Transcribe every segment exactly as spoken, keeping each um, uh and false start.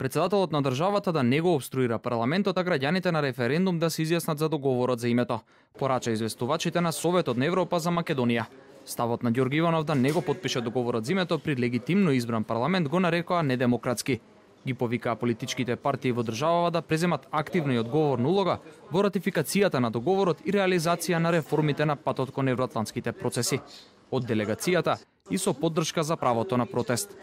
Председателот на државата да не го обструира парламентот, а граѓаните на референдум да се изјаснат за договорот за името, порача известувачите на Советот на Европа за Македонија. Ставот на Ѓорги Иванов да не го потпише договорот за името при легитимно избран парламент го нарекоа недемократски. Ги повикаа политичките партии во државава да преземат активна и одговорна улога во ратификацијата на договорот и реализација на реформите на патот кон евроатлантските процеси. Од делегацијата и со поддршка за правото на протест.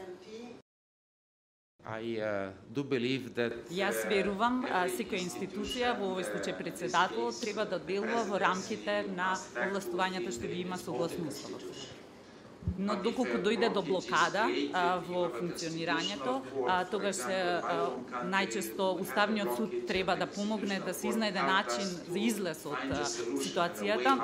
I uh, do believe that Јас верувам, секоја институција, во овој случај председателот, треба да делува во рамките на овластувањата што ги има согласно уставот. Но доколку дојде до блокада а, во функционирањето, а, тогаш се а, најчесто Уставниот суд треба да помогне да се изнајде начин за излез од а, ситуацијата.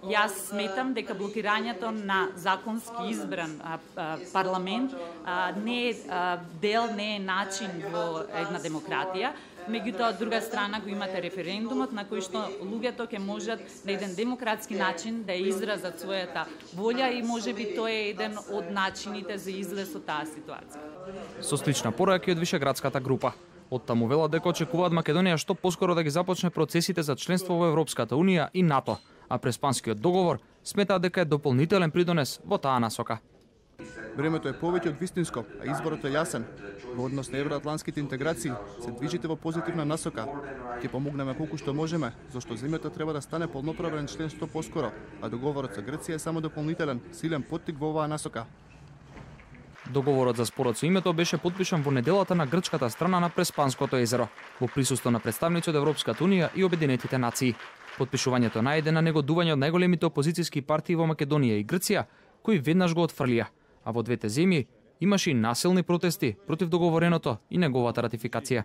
Јас сметам дека блокирањето на законски избран а, а, парламент а, не е а, дел, не е начин во една демократија. Меѓутоа, од друга страна го имате референдумот на кој што луѓето ќе можат на еден демократски начин да изразат својата волја и можеби тоа е еден од начините за излез од таа ситуација. Со слична порака и од Вишеградската група. Од таму велат дека очекуваат Македонија што поскоро да ги започне процесите за членство во Европската унија и НАТО, а Преспанскиот договор сметаат дека е дополнителен придонес во таа насока. Времето е повеќе од вистинско, а изборот е јасен. Во однос на евроатлантските интеграции се движите во позитивна насока. Ќе помогнеме колку што можеме, зашто земјата треба да стане полноправен член што поскоро, а договорот со Грција е само дополнителен, силен поттик во оваа насока. Договорот за спорот со името беше потпишан во неделата на грчката страна на Преспанското езеро, во присуство на представници од Европската унија и Обединетите нации. Потпишувањето најде на негодување од најголемите опозицијски партии во Македонија и Грција, кои веднаш го отфрлија, а во двете земји имаше и насилни протести против договореното и неговата ратификација.